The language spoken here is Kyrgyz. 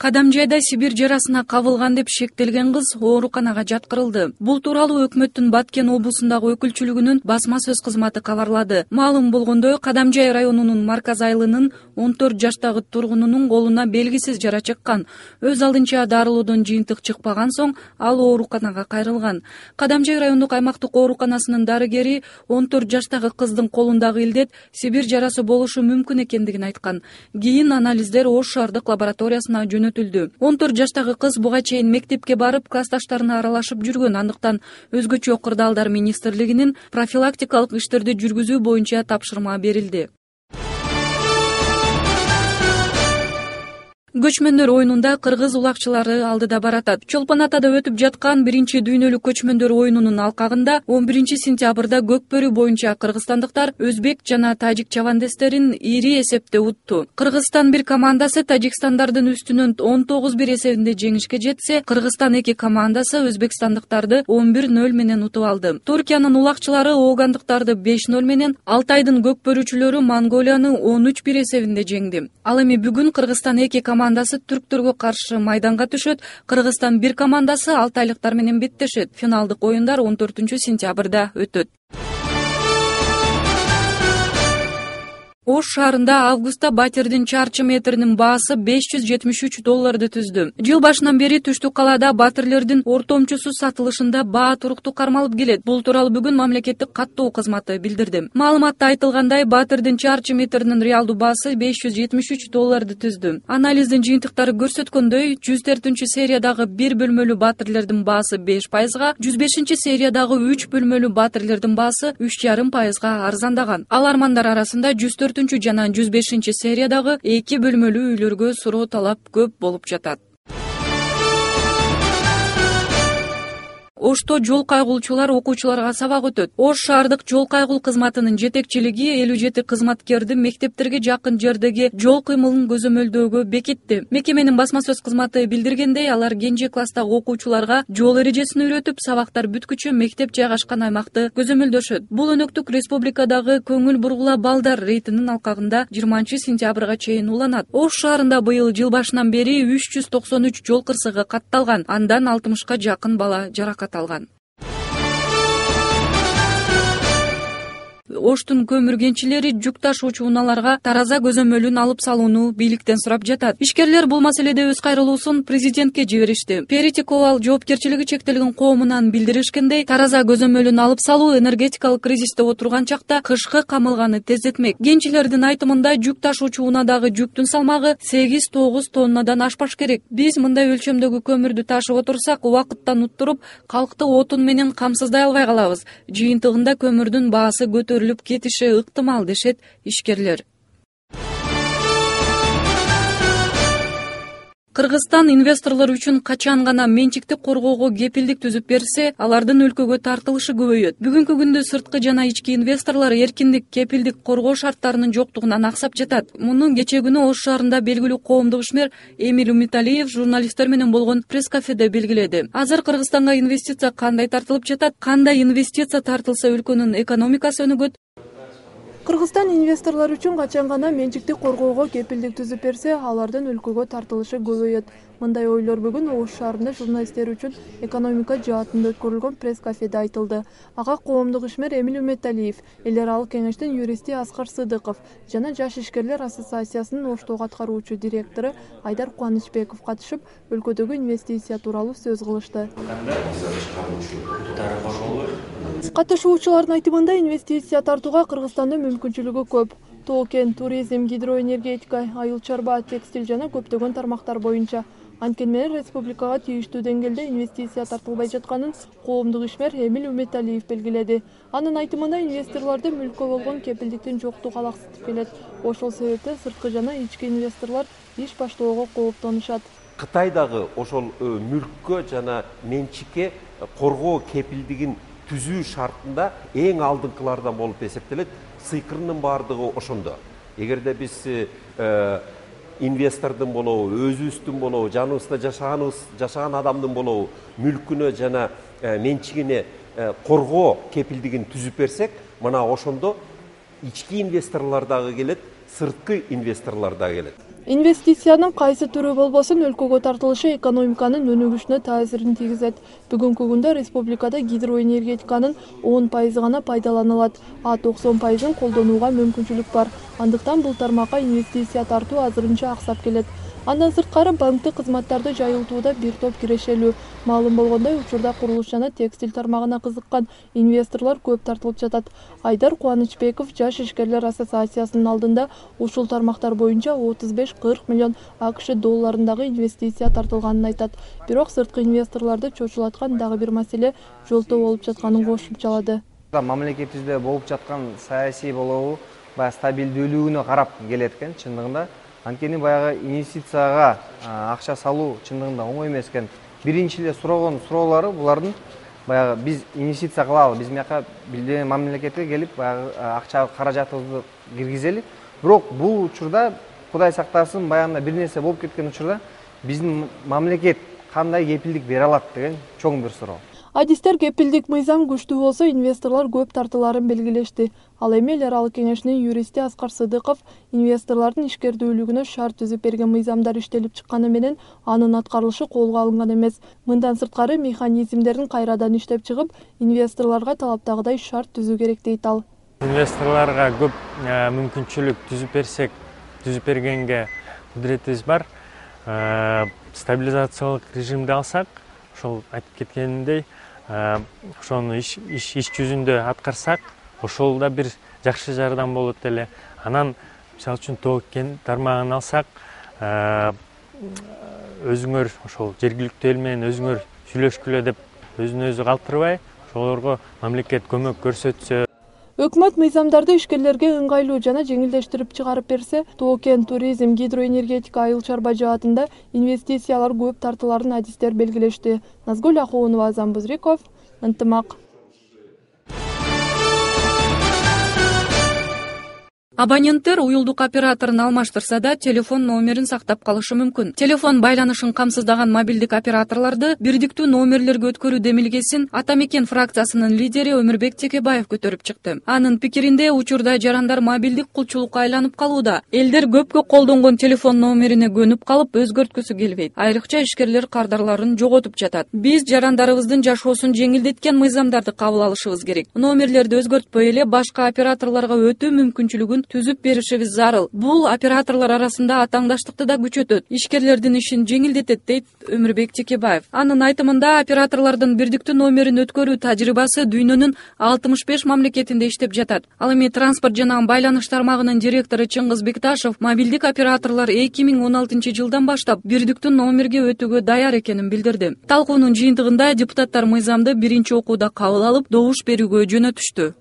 Кадамжайда Сибирь жарасына кабылган деп шектелген кыз ооруканага жаткырылды. Бул тууралуу өкмөттүн Баткен облусундагы өкүлчүлүгүнүн басма сөз кызматы кабарлады. Маалым болгондой, Кадамжай районунун Марказ айылынын 14 жаштагы тургунунун колуна белгисиз жара чыккан. Өз алдынча дарылоодон жыйынтык чыкпаган соң ал ооруканага кайрылган. Кадамжай райондук аймактык ооруканасынын дарыгери 14 жаштагы кыздын колундагы илдет Сибирь жарасы болушу мүмкүн экендигин айткан. Кийин анализдер Ош шаардык лабораториясына жөнөтүлдү. 14 жаштагы кыз буга чейин мектепке барып, классташтарына аралашып жүргөн, андыктан өзгөчө кырдаалдар министрлигинин профилактикалык иштерди жүргүзүү боюнча тапшырма берилди. Көчмөндөр оюнунда кыргыз улакчылары алдыда баратат. Чолпон Атада өтүп жаткан 1-дүйнөлүк көчмөндөр оюнунун алкагында 11-сентябрда Көкбөрү боюнча кыргызстандыктар өзбек жана тажик чабандестерин ири эсепте утту. Кыргызстан 1 командасы тажикстандардын үстүнөн 19-1 эсебинде жеңишке жетсе, Кыргызстан 2 командасы өзбекстандыктарды 11-0 менен утуп алды. Туркиянын улакчылары оогандыктарды 5-0 менен, Алтайдын көкбөрүчүлөрү Монголияны 13-1 эсебинде жеңди. Ал эми бүгүн Кыргызстан 2 командасы түрктөргө каршы майданга түшөт. Кыргызстан 1 командасы алтайлыктар менен беттешет. Финалдык оюндар 14-сентябрда өтөт. Ош шаарында августта батирдин чарчы метринин баасы $573 түздү. Жыл башынан бери түштүк калаада батирлердин ортомчусу сатылышында баа туруктуу кармалып келет. Бул тууралуу бүгүн мамлекеттик каттоо кызматы билдирди. Маалыматта айтылгандай, батирдин чарчы метринин реалдуу баасы $573 түздү. Анализдин жыйынтыктары көрсөткөндөй, 104 сериядагы 1 бөлмөлүү батирлердин баасы 5%, 105 сериядагы 3 бөлмөлүү батирлердин баасы 3,5% арзандаган. Алармандар арасында 104 жана 105 сериядагы 2 бөлмөлүү үйлөргө суроо талап көп болуп жатат. Ошто жол кайгылчулар окуучуларга сабак өтөт. Ош шаардык жол кайгыл кызматынын жетекчилиги 57 кызматкерди мектептерге жакын жердеги жол кыймылын көзөмөлдөөгө бекитти. Мекеменин басма сөз кызматы билдиргендей, алар кенже класстагы окуучуларга жол эрежесин үйрөтүп, сабактар бүткүчө мектеп жайгашкан аймакты көзөмөлдөшөт. Бул өнөктүк республикадагы көңүл бургула балдар рейтинин алкагында 20-сентябрга чейин уланат. Ош шаарында быйыл жыл башынан бери 393 жол кырсыгы катталган, андан 60ка жакын бала жаракат алган. Оштун көмүр кенчилери жүк ташуучу унааларга тараза көзөмөлүн алып салууну бийликтен сурап жатат. Ишкерлер бул маселеде өз кайрылуусун президентке жиберишти. Перитиковал жоопкерчилиги чектелген коомунан билдиришкендей, тараза көзөмөлүн алып салуу энергетикалык кризисте отурган чакта кышкы камылганы тездетмек. Кенчилердин айтымында, жүк ташуучу унадагы жүктүн салмагы 8-9 тоннадан ашпаш керек. Биз мындай өлчөмдөгү көмүрдү ташып отурсак, убакыттан уттуруп, калкты отун менен камсыздай албай калабыз. Жыйынтыгында көмүрдүн баасы көтөрүлүп кетиши ыктымал, дешет ишкерлер. Кыргызстан инвесторлор үчүн качан гана менчикти коргоого кепилдик түзүп берсе, алардын өлкөгө тартылышы көбөйөт. Бүгүнкү күндө сырткы жана ички инвесторлор эркиндик кепилдик коргоо шарттарынын жоктугунан аксап жатат. Муну кечээ күнү Ош шаарында белгилүү коомдук ишмер Эмиль Умиталиев журналисттер менен болгон пресс-кафеде белгиледи. Азыр Кыргызстанга инвестиция кандай тартылып жатат? Кандай инвестиция тартылса өлкөнүн экономикасы өнүгөт? Кыргызстан инвесторлор үчүн качан гана менчикти коргоого кепилдик түзүп берсе, алардын өлкөгө тартылышы көбөйөт. Мындай ойлор бүгүн Ош шаарында журналисттер үчүн экономика жаатында өткөрүлгөн пресс-кафеде айтылды. Ага коомдук ишмер Эмиль Умиталиев, эл аралык кеңештин юристи Аскар Сыдыков жана Жаш ишкерлер ассоциациясынын Оштогу аткаруучу директору Айдар Кубанычбеков катышып, өлкөдөгү инвестиция тууралуу сөз кылышты. Катышуучулардын айтымында, инвестиция тартууга Кыргызстандын мүмкүнчүлүгү көп. Тоо-кен, туризм, гидроэнергетика, айыл чарба, текстиль жана көптөгөн тармактар боюнча. Анткени менен республикага тийиштүү деңгээлде инвестиция тартылбай жатканын коомдук ишмер Эмиль Умиталиев белгиледи. Анын айтымында, инвесторлорду мүлккө болгон кепилдиктин жоктугу алаксытып келет. Ошол себептен сырткы жана ички инвесторлор иш баштоого кооптонушат. Кытайдагы ошол мүлккө жана менчикке коргоо кепилдигин түзүү шартында эң алдыңкылардан болуп эсептелет. Сыйкырынын баардыгы ошондо. Эгерде биз инвестордун болобу, өзүбүздүн болобу, жаныбызда жашаган адамдын болобу мүлкүнө жана менчигине коргоо кепилдигин түзүп берсек, мына ошондо ички инвесторлор дагы келет, сырткы инвесторлор дагы келет. Инвестициянын кайсы түрү болбосун өлкөгө тартылышы экономиканын өнүгүшүнө таасирин тийгизет. Бүгүнкү күндө республикада гидроэнергетиканын 10% гана пайдаланылат, а 90%ын колдонууга мүмкүнчүлүк бар. Андыктан бул тармакка инвестиция тартуу азырынча аксап келет. Андан сырткары банктык кызматтарды жайылтууда бир топ кирешелүү. Маалым болгондой, учурда курулуш жана текстиль тармагына кызыккан инвесторлор көп тартылып жатат. Айдар Кубанычбеков Жаш ишкерлер ассоциациясынын алдында ушул тармактар боюнча 35-40 миллион АКШ долларындагы инвестиция тартылганын айтат. Бирок сырткы инвесторлорду чочулаткан дагы бир маселе жолтоо болуп жатканын кошумчалады. Мамлекетибизде болуп жаткан саясий болобу баягы стабилдүүлүгүнө карап келет экен чындыгында. Анткени баягы инвестицияга акча салуу чындыгында оңой эмес экен. Биринчи эле сураган суроолору булардын баягы биз инвестиция кылалы, биз мияка билдеген мамлекетке келип баягы акча каражатыбызды киргизели. Бирок бул учурда Кудай сактасын баягында бир нерсе болуп кеткен учурда биздин мамлекет кандай кепилдик бере алат деген чоң бир суроо. Адистер кепилдик мыйзам күчтүү болсо инвесторлор көп тартыларын белгилешти. Ал эми эл аралык кеңешинин юристи Аскар Сыдыков инвесторлордун ишкердүүлүгүнө шарт түзүп берген мыйзамдар иштелип чыкканы менен анын аткарылышы колго алынган эмес. Мындан сырткары механизмдерин кайрадан иштеп чыгып, инвесторлорго талаптагыдай шарт түзүү керек дейт ал. Инвесторлорго көп мүмкүнчүлүк түзүп бергенге кудуретибиз бар. Стабилизациялык режимди алсак, ошол айтып кеткенимдей, ошону иш жүзүндө аткарсак, ошол да бир жакшы жардам болот эле. Анан мисалы үчүн токен тармагын алсак, өзүңөр ошол жергиликтүү эл менен өзүңөр сүйлөшкүлө деп өзүн өзү калтырбай, ошолорго мамлекет көмөк көрсөтсө. Өкмөт мыйзамдарды ишкерлерге ыңгайлуу жана жеңилдештирип чыгарып берсе, токен, туризм, гидроэнергетика, айыл чарба жаатында инвестициялар көп тартыларын адистер белгилешти. Назгүл Ахуунова, Азам Бузриков, Ынтымак. Абоненттер уюлдук операторун алмаштырса да, телефон номерин сактап калышы мүмкүн. Телефон байланышын камсыздаган мобилдик операторлорду бирдиктүү номерлерге өткөрүү демилгесин Ата мекен фракциясынын лидери Өмүрбек Текебаев көтөрүп чыкты. Анын пикиринде, учурда жарандар мобилдик кулчулукка айланып калууда. Элдер көпкө колдонгон телефон номерине көнүп калып, өзгөрткүсү келбейт. Айрыкча ишкерлер кардарларын жоготуп жатат. Биз жарандарыбыздын жашоосун жеңилдеткен мыйзамдарды кабыл алышыбыз керек. Номерлерди өзгөртпөй эле башка операторлорго өтүү мүмкүнчүлүгүн түзүп беришибиз зарыл. Бул операторлор арасында атаңдаштыкты да күчөтөт, ишкерлердин ишин жеңилдетет, дейт Өмүрбек Текебаев. Анын айтымында, операторлордун бирдиктүү номерин өткөрүү тажрыйбасы дүйнөнүн 65 мамлекетинде иштеп жатат. Ал эми транспорт жана байланыш тармагынын директору Чыңгыз Бекташев мобилдик операторлор 2016 жылдан баштап бирдиктүү номерге өтүүгө даяр экенин билдирди. Талкуунун жыйынтыгында депутаттар мыйзамды биринчи окууда кабыл алып, добуш берүүгө жөнөтүштү.